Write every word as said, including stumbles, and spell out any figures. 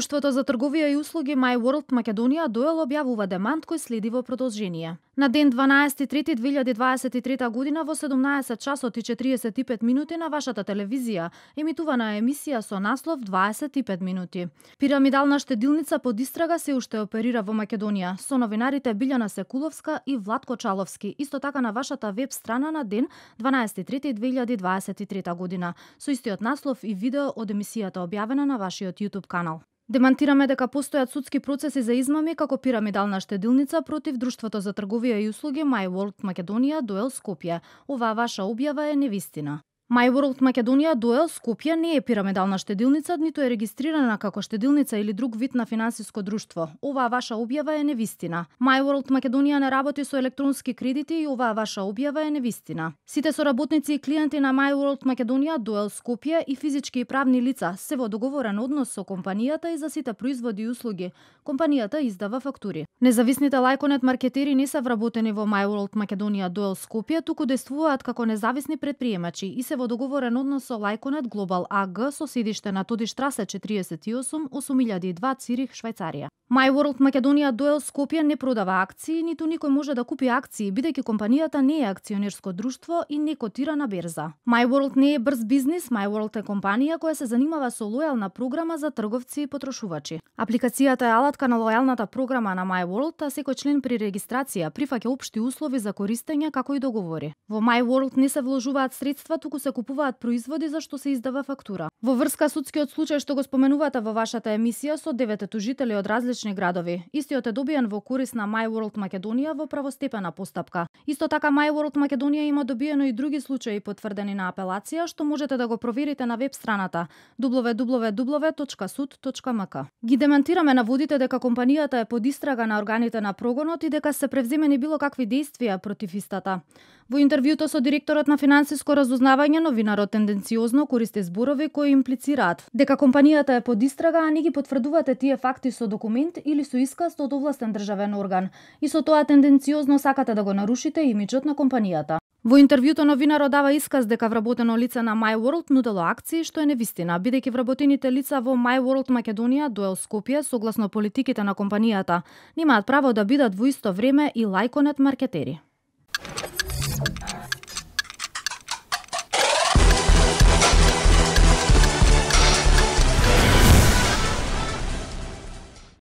Друштвото за трговија и услуги My World Македонија Дуел објавува демант кој следи во продолжение. На ден дванаесети трети две илјади дваесет и трета година во седумнаесет часот и четириесет и пет минути на вашата телевизија емитувана емисија со наслов дваесет и пет минути. Пирамидална штедилница под истрага се уште оперира во Македонија со новинарите Билјана Секуловска и Владко Чаловски, исто така на вашата веб страна на ден дванаесети трети две илјади дваесет и трета година, со истиот наслов и видео од емисијата објавена на вашиот YouTube канал. Демантираме дека постојат судски процеси за измами како пирамидална штедилница против Друштвото за трговија и услуги My World Македонија Дуел Скопје. Оваа ваша објава е невистина. My World Македонија Дуел Скопје не е пирамидална штедилница, ниту е регистрирана како штедилница или друг вид на финансиско друштво. Оваа ваша објава е невистина. My World Македонија не работи со електронски кредити и оваа ваша објава е невистина. Сите соработници и клиенти на My World Македонија Дуел Скопје и физички и правни лица се во договорен однос со компанијата и за сите производи и услуги. Компанијата издава фактури. Независните лајконет маркетери не се вработени во My World Македонија Дуел Скопје, туку действуваат како независни предприемачи и се во договорен однос со Лајконет Глобал А Г со седиште на Тодиштрасе четириесет и осум осум илјади и два Цирих, Швајцарија. My World Македонија Дуел Скопје не продава акции, ниту никој може да купи акции, бидејќи компанијата не е акционерско друштво и не котира на берза. My World не е брз бизнис, My World е компанија која се занимава со лојална програма за трговци и потрошувачи. Апликацијата е алатка на лојалната програма на My World, а секој член при регистрација прифаќа општи услови за користење како и договори. Во My World не се вложуваат средства, туку се купуваат производи за што се издава фактура. Во врска судскиот случај што го споменувате во вашата емисија со девете тужители од различни градови, истиот е добиен во корист на My World Македонија во правостепена постапка. Исто така My World Македонија има добиено и други случаи потврдени на апелација, што можете да го проверите на веб страната дабл ю дабл ю дабл ю точка суд точка ем ка. Ги демантираме наводите дека компанијата е под истрага на органите на прогонот и дека се превземени било какви действија против истата. Во интервјуто со директорот на финансиско разузнавање, новинарот тенденциозно користи зборови кои имплицираат дека компанијата е под истрага, а не ги потврдувате тие факти со документ или со исказ од овластен државен орган. И со тоа тенденциозно сакате да го нарушите имиџот на компанијата. Во интервјуто новинарот дава исказ дека вработено лице на My World нудело акции, што е невистина, бидејќи вработените лица во My World Македонија Дуел Скопје, согласно политиките на компанијата, немаат право да бидат во исто време и лајконет маркетери.